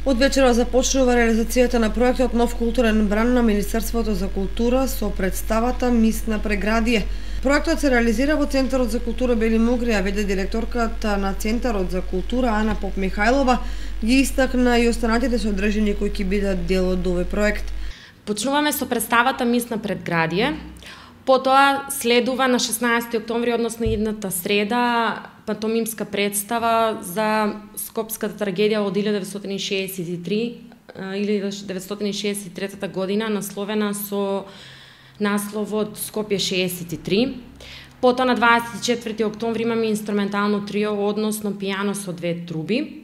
Од вечера започнува реализацијата на проектот Нов културен бранд на Министерството за култура со представата Мис на преградие. Проектот се реализира во Центарот за култура Бели Мугри, а веде директорката на Центарот за култура Ана Поп-Михајлова ги истакна и останатите содржини кои ќе бидат дел од овој проект. Почнуваме со представата Мис на предградие. Потоа следува на 16 октомври, односно идната среда, пантомимска представа за скопската трагедија од 1963 или 1963 година, насловена со насловот Скопје 63. Потоа на 24 октомври имаме инструментално трио, односно пијано со две труби.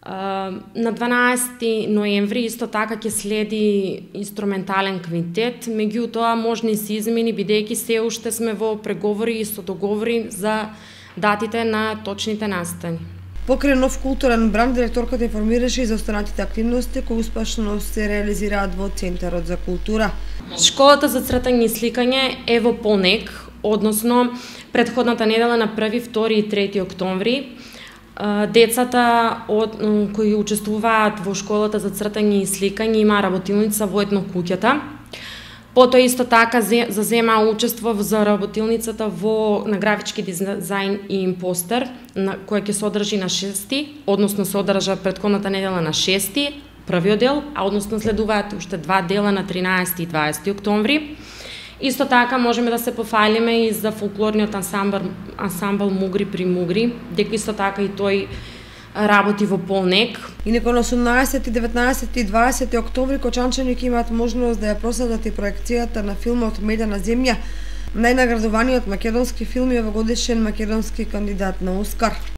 На 12 ноември исто така ќе следи инструментален квинтет, меѓутоа можни се измени бидејќи се уште сме во преговори и со договори за датите на точните настани. Покрај Нов културен бранд, директорката информираше и за останатите активности кои успешно се реализираат во Центарот за култура. Школата за цртање и сликање е во полнек, односно претходната недела на 1, 2 и 3 октомври. Децата кои учествуваат во школата за цртање и сликање има работилница во едно куќата. Потоа исто така зазема учество за работилницата на графички дизајн и импостер, која ќе се одржи на 6, односно се одржа претходната недела на 6, првиот дел, а односно следуваат уште два дела на 13 и 20 октомври. Исто така можеме да се пофалиме и за фолклорниот ансамбл Мугри при Мугри, дека исто така и тој работи во полнек. Инаку на 18, 19 и 20 октомври кочанчани ќе имаат можност да ја проследат и проекцијата на филмот Медена земја, најнаградуваниот македонски филм и овогодишен македонски кандидат на Оскар.